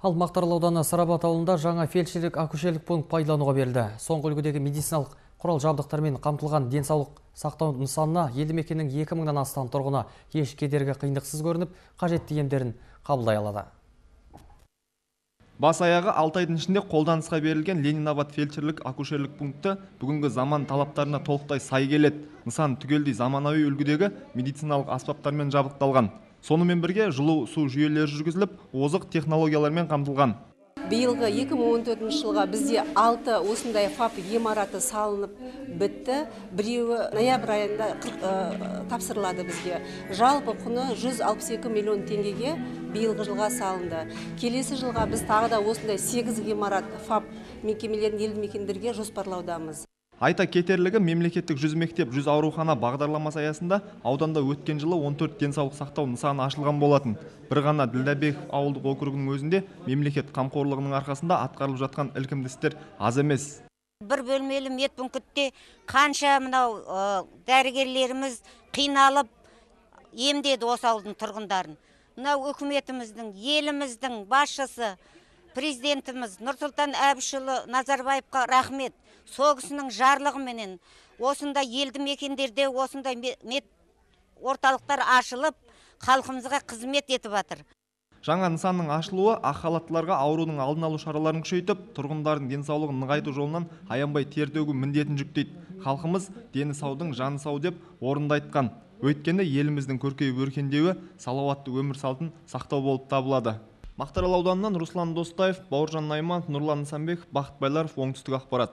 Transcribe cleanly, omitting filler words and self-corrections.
Ал Мақтаарал ауданы Сарабат ауылында жаңа фельдшерлік акушерлік пункт пайдалануға берілді. Соңғы үлгідегі медициналық құрал жабдықтармен қамтылған денсаулық сақтау нысанына елді мекеннің 2000-нан астам тұрғыны еш кедергі қиындықсыз көрініп, қажетті емдерін қабылдай алады. Бас аяғы 6 айдың ішінде қолданысқа берілген Ленинабад фельдшерлік акушерлік пункті бүгінгі заман талаптарына толықтай сай келеді. Нысан түгелдей заманауи үлгідегі медициналық аспаптармен жабдықталған. Сонымен бірге жылу су жүйелері жүргізіліп, озық технологиялармен қамтылған. Биылғы 2014 жылға бізде 6 осындай ФАП ғимараты салынып бітті. Біреуі ноябрь айында тапсырылады бізге. Жалпы құны 162 миллион теңгеге биылғы жылға салынды. Келесі жылға біз тағы да осындай 8 ғимарат ФАП мекемелерін елді мекендерге жоспарлаудамыз. Айта кетерлігі, мемлекеттік 100 мектеп 100 аурухана бағдарламасы аясында ауданда өткен жылы 14 денсаулық сақтау нысаны ашылған болатын. Бір ғана Ділдәбеков ауылдық округінің өзінде мемлекет қамқорлығының арқасында атқарылып жатқан ілкімді істер аз емес. Бір бөлмелі медпунктте қанша мынау дәрігерлеріміз қиналып емдеді осы ауылдың тұрғындарын. Мынау үкіметіміздің, еліміздің басшысы, президентіміз Нұрсұлтан Әбішұлы Назарбаевқа рахмет. Сол кісінің жарлығыменен осындай елді мекендерде осындай мед орталықтар ашылып, халқымызға қызмет етіп жатыр. Жаңа нысанның ашылуы ақ халаттыларға аурудың алдын алу шараларын күшейтіп, тұрғындардың денсаулығын нығайту жолынан аянбай тер төгу міндетін жүктейді. Халқымыз дені саудың жаны сау деп орынды айтқан. Өйткені еліміздің көркейіп өркендеуі салауатты өмір салтын сақтау болып табылады. Мақтаарал ауданынан Руслан Достаев, Бауыржан Найман, Нұрлан Нысанбеков, Бақыт Байларов, оңтүстік ақпарат.